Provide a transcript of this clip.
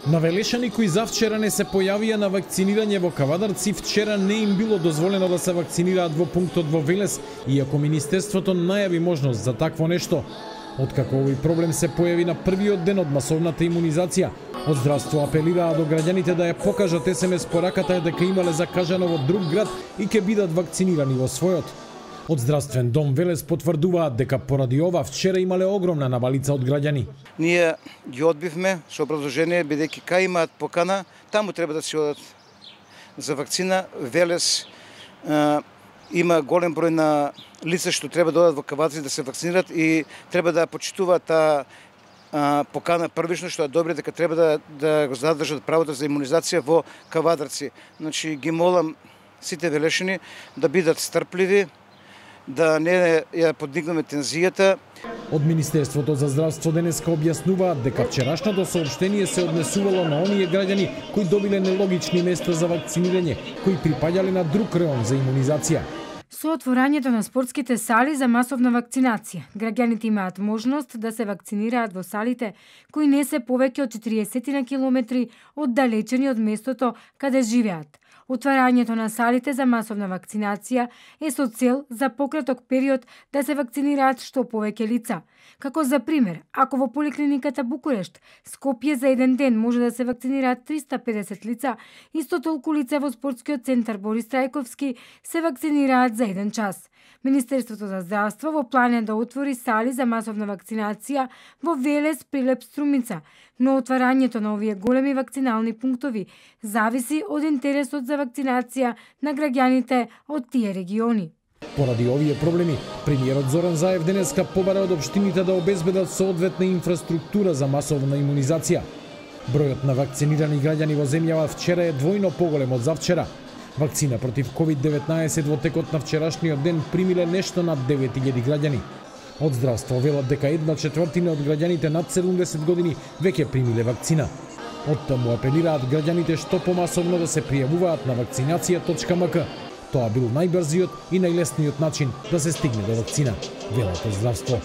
Навелешани кои завчера не се појавија на вакцинирање во Кавадарци, вчера не им било дозволено да се вакцинираат во пунктот во Велес, иако Министерството најави можност за такво нешто. Откако овој проблем се појави на првиот ден од масовната имунизација, од здравство апелираа до граѓаните да ја покажат СМС пораката дека имале закажано во друг град и ќе бидат вакцинирани во својот. Од здравствен дом Велес потврдуваат дека поради ова вчера имале огромна навалица од граѓани. Ние ги одбивме со образложение, бидејќи кај имаат покана, таму треба да се одат за вакцина. Велес има голем број на лица што треба да одат во Кавадарци да се вакцинират и треба да почитуваат таа покана првично, што е добро, дека треба да го задржат правото за имунизација во Кавадарци. Значи ги молам сите велешани да бидат стрпливи, да не ја подигнеме тензијата. Од Министерството за здравство денеска објаснуваат дека вчерашното соопштение се однесувало на оние граѓани кои добиле нелогични места за вакцинирање, кои припаѓале на друг реон за имунизација. Со отворањето на спортските сали за масовна вакцинација, граѓаните имаат можност да се вакцинираат во салите кои не се повеќе од 40 на километри оддалечени од местото каде живеат. Отварањето на салите за масовна вакцинација е со цел за пократок период да се вакцинираат што повеќе лица. Како за пример, ако во поликлиниката Букурешт, Скопје за еден ден може да се вакцинираат 350 лица, исто толку лица во спортскиот центар Борис Трајковски се вакцинираат за еден час. Министерството за здравство во план е да отвори сали за масовна вакцинација во Велес, Прилеп, Струмица, но отварањето на овие големи вакцинални пунктови зависи од интересот за вакцинација на граѓаните од тие региони. Поради овие проблеми, премиерот Зоран Заев денеска побара од општините да обезбедат соодветна инфраструктура за масовна имунизација. Бројот на вакцинирани граѓани во земјава вчера е двојно поголем од завчера. Вакцина против COVID-19 во текот на вчерашниот ден примиле нешто над 9000 граѓани. Од здравство велат дека 1/4 од граѓаните над 70 години веќе примиле вакцина. Од таму апелираат граѓаните што помасовно да се пријавуваат на вакцинација.мк. Тоа бил најбрзиот и најлесниот начин да се стигне до вакцина, велат од здравство.